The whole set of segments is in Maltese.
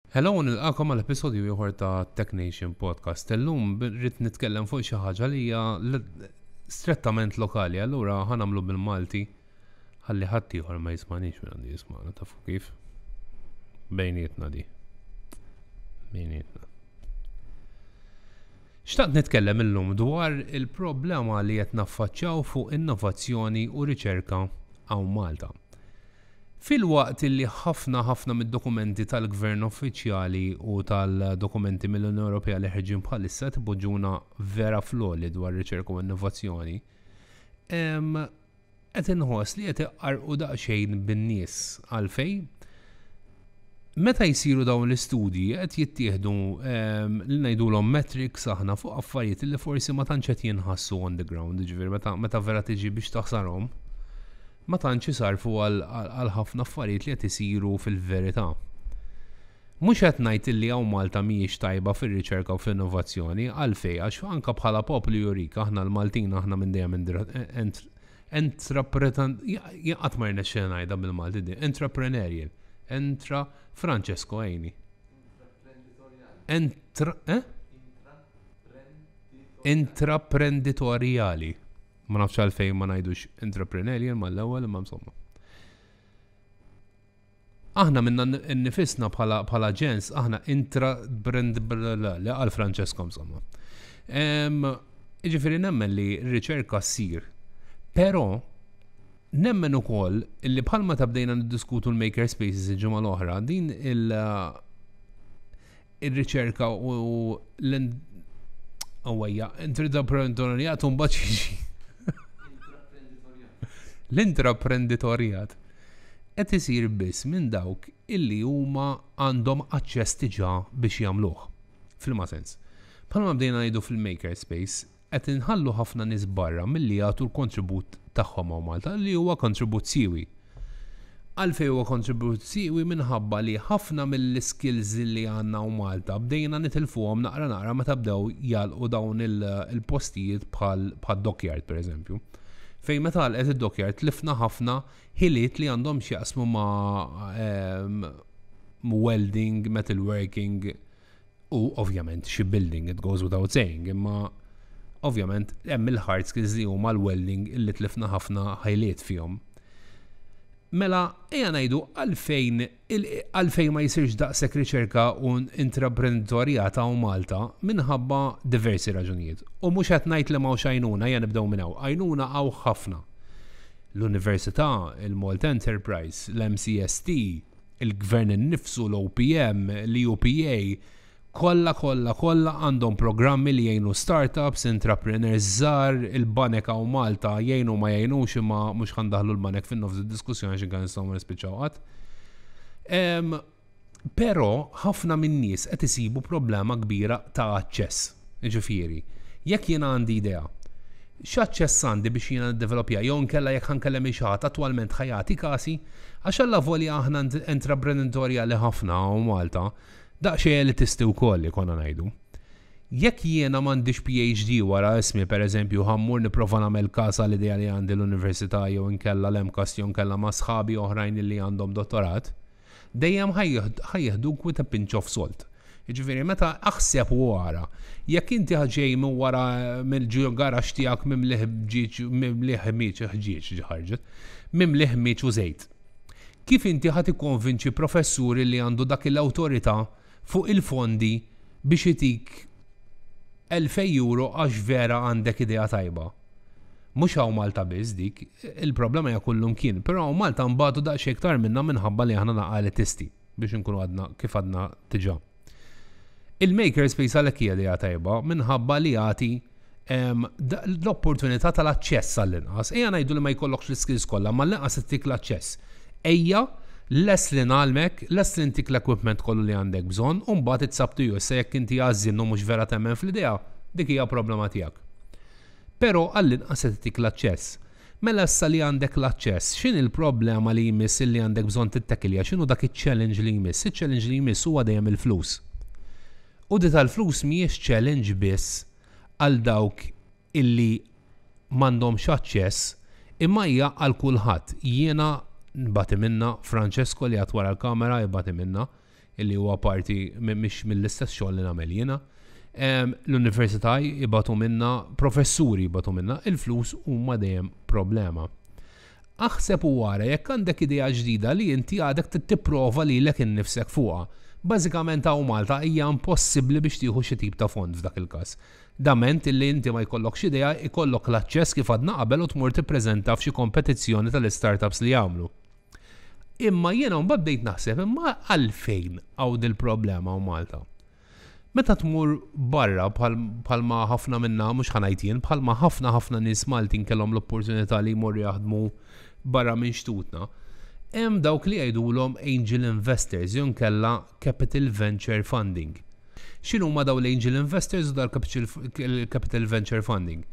Hello u nilqakom għal episodju ieħor ta' Tech Nation Podcast. Illum rrid nitkellem fuq xi ħaġa li hija strettament lokali, allura ħa nagħmlu bil-Malti ħalli ħadd ieħor ma jismanix minn għandu jismana tafu kif. Bejnietna di. Bejnietna. Xtaqt nitkellem illum dwar il-problema li qed naffaċċjaw fuq innovazzjoni u riċerka hawn Malta. Filwaqt li ħafna ħafna mid-dokumenti tal-gvern uffiċjali u tal-dokumenti mill-Unjoni Ewropea li ħerġin bħalissa qed ipoġġuna vera fl-għoli dwar riċerka u innovazzjoni, qed inħoss li qed iqarrqu daqsxejn bin-nies. Għalfejn? Meta jsiru dawn l-istudji qed jittieħdu li ngħidulhom metrics aħna fuq affarijiet li forsi ma tantx qed jinħassu on the ground, jiġifieri meta meta vera tiġi biex taħsarhom, ma tantx isarfu għal ħafna affarijiet li qed isiru fil-verità. Mhux qed ngħid illi hawn Malta mhijiex tajba fir-riċerka u fl-innovazzjoni, għalfejn għax anke bħala poplu jurik aħna l-Maltin aħna minn dejjem Entrapretan, jien qatt ma rnexxieli ngħidha bil-Malti din, intrapreneurial. Entra, Francesco għini. Entra, eh? Intraprenditoriali. Ma nafx għalfejn ma ngħidux intrapreneurial mal-ewwel imma insomma. Aħna minna nnifisna bħala bħala ġens aħna intra brand li għal Francesco insomma. Jiġifieri nemmen li r-riċerka ssir. Però nemmen ukoll li bħalma ta' bdejna niddiskutu l-maker spaces il-ġimgħa l-oħra, din il- ir-riċerka u l Għawajja, intraprenditorjat un jiġi. L-intraprenditorjat qed isir biss minn dawk illi huma għandhom aċċess diġà biex jagħmluh. F'liema sens? Bħalma bdejna ngħidu fil-makerspace, qed inħallu ħafna nies barra milli jagħtu l-kontribut tagħhom hawn Malta li huwa kontribut siewi. Għalfejn huwa kontribut siewi minħabba li ħafna mill-iskills li għandna hawn Malta bdejna nitilfuhom naqra naqra meta bdew jagħlqu dawn il-postijiet bħal bħad-dockyard pereżempju. Fejn meta għalqet id-dockyard tlifna ħafna ħiliet li għandhom x'jaqsmu ma' ehm, welding, metalworking, U ovvjament shipbuilding, it goes without saying, imma ovvjament hemm il-hard skills li huma l-welding illi tlifna ħafna ħajliet fihom. Mela, ejja ngħidu għalfejn għalfejn ma jsirx daqshekk riċerka u intraprenditorjat hawn Malta minħabba diversi raġunijiet. U mhux qed ngħid li m'hawnx għajnuna, ejja nibdew minn hawn. Għajnuna hawn ħafna. L-Università, il-Malta Enterprise, l-MCST, il-gvern innifsu, l-OPM, l-EUPA, kollha kollha kollha għandhom programmi li jgħinu startups, intrapreneurs żgħar, il-banek hawn Malta jgħinu ma jgħinux imma mhux ħa ndaħħlu l-banek fin-nofs id-diskussjoni għax inkella nistgħu ma nispiċċaw qatt. Però ħafna min-nies qed isibu problema kbira ta' aċċess. Jiġifieri, jekk jiena għandi idea, x'aċċess għandi biex jiena niddevelopja jew inkella jekk ħa nkellem lil xi ħadd attwalment ħa jagħti kasi, għax allavolja aħna intraprenditorjali ħafna hawn Malta, daqsxejn elitisti wkoll ikollna ngħidu. Jekk jiena m'għandix PhD wara ismi pereżempju ħa mmur nipprova nagħmel każ għal idea li għandi l-università jew inkella l-MCAST jew inkella ma' sħabi oħrajn li għandhom dottorat, dejjem ħa jieħduk with a pinch of salt. Jiġifieri meta aħseb u ara, jekk inti ġej minn wara mill garaxx tiegħek mimli ħġieġ mimli ħmieġ ħġieġ ħarġet, mimli ħmieġ u żejt. Kif inti ħa tikkonvinċi professur li għandu dak l-awtorità fuq il-fondi biex itik 2000 euro għax vera għandek idea tajba? Mhux hawn Malta biss dik, il-problema hija kullumkien, però hawn Malta nbatu daqsxejn iktar minna minħabba li aħna naqa elitisti biex inkunu għadna kif għadna diġà. Il-makerspace għalhekk hija idea tajba minħabba li jagħti l-opportunità tal-aċċess għall-inqas. Ejja ngħidu li ma jkollokx l-iskills kollha, ma l-inqas ittik l-aċċess. Ejja, lest li ngħallmek, lest li ntik l-equipment kollu li għandek bżonn, u mbagħad it's up to you. Issa jekk inti għażżien u mhux vera temmen fl-idea, dik hija problema tiegħek. Però għall-inqas qed itik l-aċċess. Mela issa li għandek l-aċċess, x'inhi l-problema li jmiss illi għandek bżonn tittekilja, x'inhu dak iċ-challenge li jmiss? Iċ-challenge li jmiss huwa dejjem il-flus. U di tal-flus mhijiex challenge biss għal dawk illi m'għandhomx aċċess, imma hija għal kulħadd. Jiena nbati minnha, Francesco li għad wara l-kamera jbati minnha. illi huwa parti mhix mill-istess xogħol li nagħmel jiena. L-università jibatu minna, professuri jibatu minna, il-flus huma dejjem problema. Aħseb u ara jekk għandek idea ġdida li inti għadek trid tipprova lilek innifsek fuqha. Bażikament hawn Malta hija impossibbli biex tieħu xi tip ta' fond f'dak il-każ. Dament illi inti ma jkollokx idea, ikollok l-aċċess kif għadna qabel u tmur tippreżenta f'xi kompetizzjoni tal-istartups li jagħmlu. Imma jiena mbagħad bdejt naħseb imma għalfejn hawn dil-problema hawn Malta. Meta tmur barra bħalma ħafna minna, mhux ħa ngħid jien, bħalma ħafna ħafna nies Maltin kellhom l-opportunità li jmorru jaħdmu barra minn xtutna, hemm dawk li jgħidulhom angel investors jew inkella capital venture funding. X'inhuma dawn l-angel investors u dal-capital venture funding?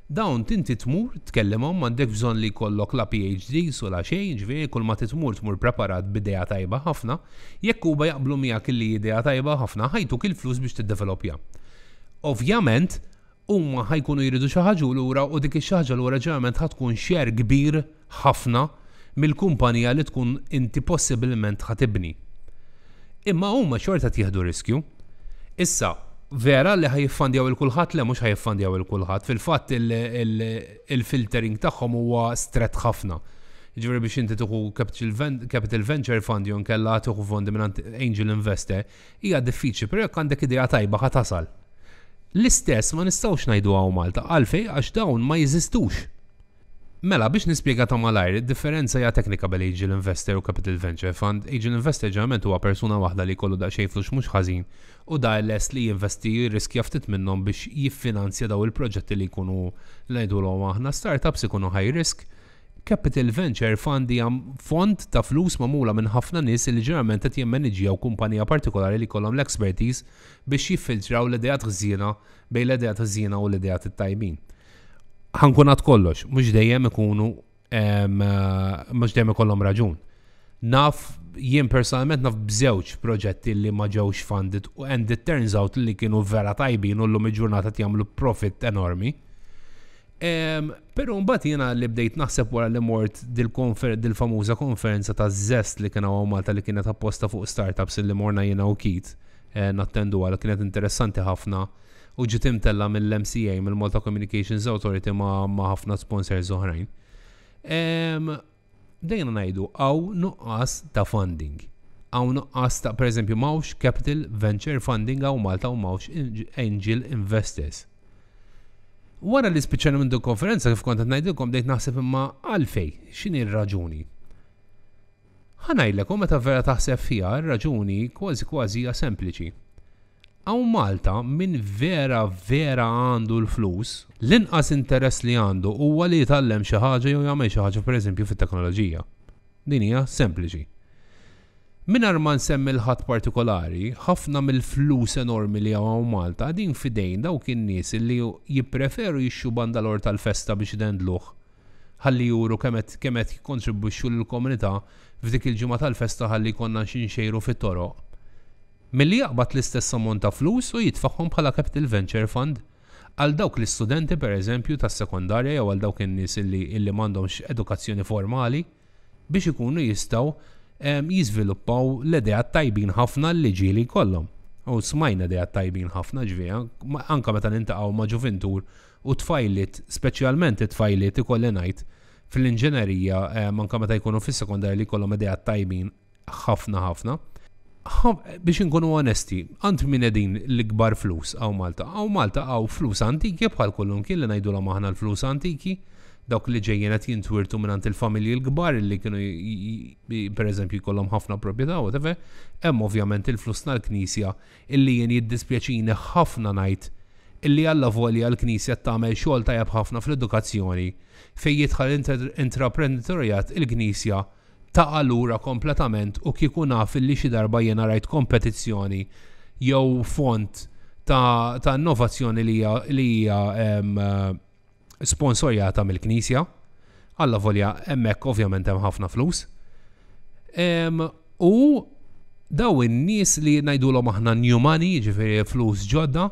Dawn tinti tmur tkellimhom, m'għandekx bżonn li jkollok la PhDs u la xejn, ġifieri kull ma titmur tmur preparat b'idea tajba ħafna, jekk huma jaqblu miegħek illi idea tajba ħafna, ħa jtuk il-flus biex tiddevelopja. Ovvjament, huma ħa jkunu jridu xi ħaġa lura u dik ix-xi ħaġa lura ġeneralment ħa tkun share kbir ħafna mill-kumpanija li tkun inti possibilment ħa tibni. Imma huma xorta qed jieħdu riskju. Issa, vera li ħa jiffandjaw 'il kulħadd? Le, mhux ħa jiffandjaw 'il kulħadd. Fil-fatt il-filtering tagħhom huwa strett ħafna. Ġifieri biex inti tieħu capital venture fund jew inkella tieħu fondi minn angel investor hija diffiċli, però jekk għandek idea tajba ħa tasal. L-istess ma nistgħux ngħidu hawn Malta, għalfejn? Għax dawn ma jeżistux. Mela, biex nispjega ta' malajr, id-differenza hija teknika bejn angel investor u capital venture fund. Angel investor ġeneralment huwa persuna waħda li jkollu daqsxejn flus mhux ħażin u da lest li jinvesti, jirriskja ftit minnhom biex jiffinanzja daw il-proġetti li jkunu, ngħidulhom aħna, startups, ikunu high risk. Capital Venture Fund hija fond ta' flus magħmula minn ħafna nies li ġeneralment qed jimmaniġġjaw kumpanija partikolari li jkollhom l-expertise biex jiffiltraw l-ideat ħżiena bejn l-ideat ħżiena u l-ideat it-tajbin. Ħa nkun għad kollox, mhux dejjem ikunu mhux dejjem ikollhom raġun. Naf, jien personalment naf b'żewġ proġetti li ma ġewx funded u and it turns out li kienu vera tajbin u llum il-ġurnata jagħmlu profit enormi. Pero mbagħad jiena li bdejt naħseb wara li mort dil-famuża konferenza ta' Zest li kien hawn Malta li kienet apposta fuq startups li morna jiena u Keith nattendu għal kienet interessanti ħafna u ġiet imtella mill-MCA, mill-Malta Communications Authority ma' ħafna sponsors oħrajn. Bdejna ngħidu hawn nuqqas ta' funding. Hawn nuqqas ta', per eżempju, m'hawnx capital venture funding hawn Malta u m'hawnx angel investors. Wara li spiċċajna minn din konferenza, kif kont qed ngħidilkom, bdejt naħseb imma għalfej, x'inhi r-raġuni? Ħa ngħidlek, u meta vera taħseb fiha, r-raġuni kważi kważi hija sempliċi. Hawn Malta min vera vera għandu l-flus, l-inqas interess li għandu huwa li jitgħallem xi ħaġa jew jagħmel xi ħaġa pereżempju fit-teknoloġija. Din hija sempliċi. Mingħajr ma nsemmi l-ħadd partikolari, ħafna mill-flus enormi li hawn Malta qegħdin f'idejn dawk in-nies li jippreferu jixtru bandalor tal-festa biex idendluh ħalli juru kemm qed kemm qed jikkontribwixxu lill-komunità f'dik il-ġimgħa tal-festa ħalli jkollna xi nxejru fit-toroq. Milli jaqbad l-istess ammont ta' flus u jitfagħhom bħala capital venture fund għal dawk l-istudenti pereżempju tas-sekondarja jew għal dawk in-nies illi illi m'għandhomx edukazzjoni formali biex ikunu jistgħu jiżviluppaw l-ideat tajbin ħafna li ġieli jkollhom. U smajna ideat tajbin ħafna ġifieri, anke meta niltaqgħu ma' ġuvintur u tfajliet, speċjalment it-tfajliet ikolli ngħid, fl-inġinerija anke meta jkunu fis-sekondarja li jkollhom ideat tajbin ħafna ħafna. Biex inkunu onesti, għand min qegħdin l-ikbar flus hawn Malta? Hawn Malta hawn flus antiki bħal kullimkien li ngħidulhom aħna l-flus antiki, dawk li ġejjin qed jintwirtu mingħand il-familji l-kbar li kienu pereżempju jkollhom ħafna proprjetà whatever. Hemm ovvjament il-flus tal-Knisja illi jien jiddispjaċini ħafna ngħid illi allavolja l-Knisja tagħmel xogħol tajjeb ħafna fl-edukazzjoni fejn jidħol intraprenditorjat il-Knisja taqa' lura kompletament u kieku naf illi xi darba jiena rajt kompetizzjoni jew fond ta', ta innovazzjoni li hija li hija sponsorjata mill-Knisja. Allavolja hemmhekk ovvjament hemm ħafna flus. U daw in-nies li ngħidulhom aħna new money, ġifieri flus ġodda,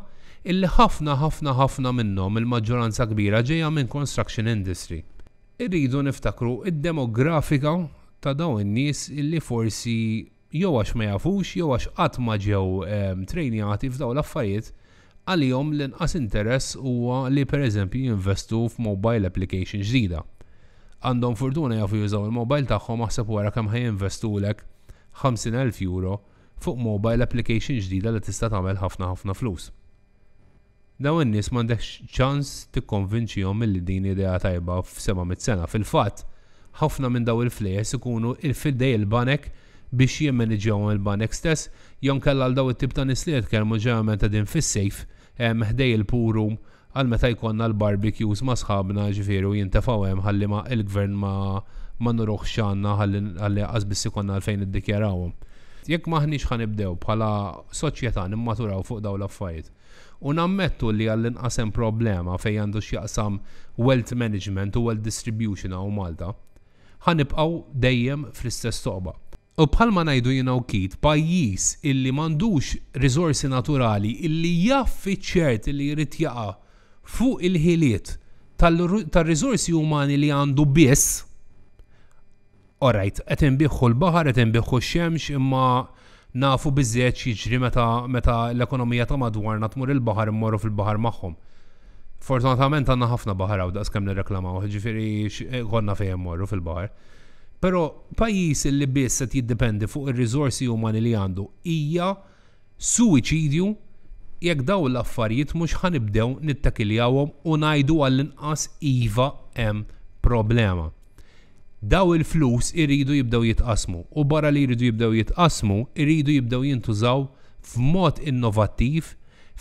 illi ħafna ħafna ħafna minnhom, il-maġġoranza kbira ġejja minn construction industry. Irridu niftakru id-demografika ta' dawn in-nies illi forsi jew għax ma jafux jew għax qatt ma ġew trejnjati f'dawn l-affarijiet, għalihom l-inqas interess huwa li pereżempju jinvestu f'mobile application ġdida. Għandhom fortuna jafu jużaw il-mobile tagħhom, aħseb wara kemm ħa jinvestulek 50,000 euro fuq mobile application ġdida li tista' tagħmel ħafna ħafna flus. Dawn in-nies m'għandekx ċans tikkonvinċihom milli din idea tajba f'700 sena. Fil-fatt, ħafna minn dawn il-flejjes ikunu f'idej il-banek biex jimmaniġġjawhom il-banek stess, jew inkella għal dawn it-tip ta' nies li jitkellmu ġeneralment qegħdin fis-safe ħdej il-pool room għal meta jkollna l-barbecues ma' sħabna, ġifieri, u jintefgħu hemm ħalli ma il-gvern ma ma nuruhx x'għandna ħalli ħalli qas biss ikollna għalfejn niddikjarawhom. Jekk m'aħniex ħa nibdew bħala soċjetà nimmaturaw fuq dawn l-affarijiet u nammettu li għall-inqas hemm problema fejn għandu x'jaqsam wealth management u wealth distribution hawn Malta, ħa nibqgħu dejjem fl-istess toqba. U bħalma ngħidu jiena u Keith, pajjiż illi m'għandux riżorsi naturali illi jaf fiċ-ċert illi jrid jaqa' fuq il-ħiliet tar-riżorsi umani li għandu biss, Alright, qed inbiħħu l-baħar, qed inbiħħu x-xemx, imma nafu biżżejjed x'jiġri meta meta l-ekonomija ta' madwarna tmur il-baħar immorru fil-baħar magħhom. Fortunatament għandna ħafna baħar hawn daqs kemm nirreklamaw, ġifieri konna fejn immorru fil-baħar. Però pajjiż li biss qed jiddependi fuq ir-riżorsi umani li għandu hija suwiċidju jekk dawn l-affarijiet mhux ħa nibdew nittekiljawhom u ngħidu għall-inqas iva hemm problema. Daw il-flus iridu jibdew jitqassmu u barra li jridu jibdew jitqassmu iridu jibdew jintużaw f'mod innovattiv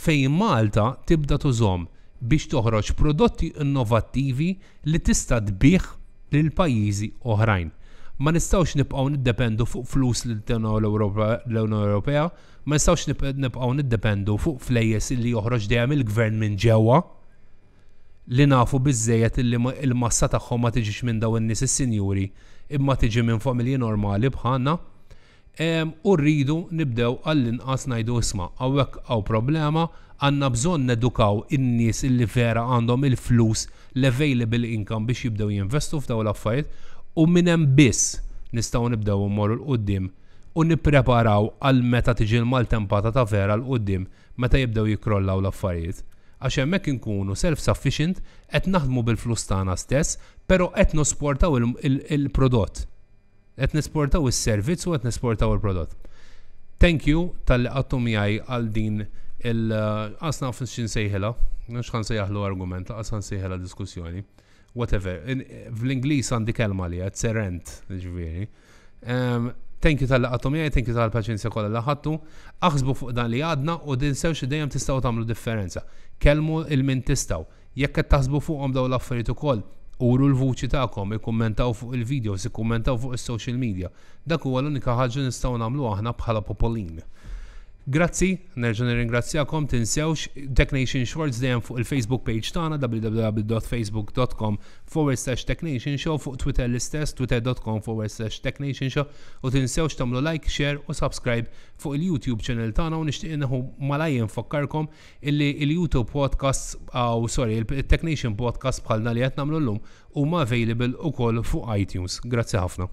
fejn Malta tibda tużhom biex toħroġ prodotti innovattivi li tista' tbigħ lil pajjiżi oħrajn. Ma nistgħux nibqgħu niddependu fuq flus li ttina l-Unjoni Ewropea, ma nistgħux nibqgħu niddependu fuq flejjes li joħroġ dejjem il-gvern minn ġewwa li nafu biżżejjed illi l-massa tagħhom ma tiġix minn dawn in-nies is-sinjuri imma tiġi minn familji normali bħalna. U rridu nibdew għall-inqas ngħidu isma' hawnhekk hawn problema, għandna bżonn nedukaw in-nies illi vera għandhom il-flus, l-available income biex jibdew jinvestu f'dawn l-affarijiet u minn hemm biss nistgħu nibdew immorru 'l quddiem u nippreparaw għal meta tiġi l-maltempata ta' vera 'l quddiem meta jibdew jikkrollaw l-affarijiet. Għax hemmhekk inkunu self-sufficient, qed naħdmu bil-flus tagħna stess, però qed nosportaw il-prodott. Qed nesportaw is-servizz u qed nesportaw il-prodott. Thank you talli qattu miegħi għal din il qas naf x'insejħilha, mhux ħa nsejjaħlu argument, laqas ħa nsejħilha diskussjoni. Whatever. Fl-Ingliż għandi kelma li it's a rant, ġifieri. Thank you talli qattu miegħi, thank you tal-paċenzja kollha li ħadtu. Aħsbu fuq dan li għadna u tinsewx li dejjem tistgħu tagħmlu differenza. Kellmu 'l min tistgħu. Jekk qed taħsbu fuqhom dawn l-affarijiet ukoll, uru l-vuċi tagħkom, ikkummentaw fuq il-videos, ikkummentaw fuq is-social media. Dak huwa l-unika ħaġa li nistgħu nagħmlu aħna bħala popolin. Grazzi, nerġa' nirringrazzjakom, tinsewx Tech Nation Shorts dejjem fuq il-Facebook page tagħna www.facebook.com forward slash Tech Nation Show, fuq Twitter l-istess, twitter.com forward slash Tech Nation Show, u tinsewx tagħmlu like, share u subscribe fuq il-YouTube channel tagħna u nixtieq nieħu malajr nfakkarkom illi il-YouTube podcasts, aw sorry, il-Tech Nation podcast bħalna li qed nagħmlu llum huma available ukoll fuq iTunes. Grazzi ħafna.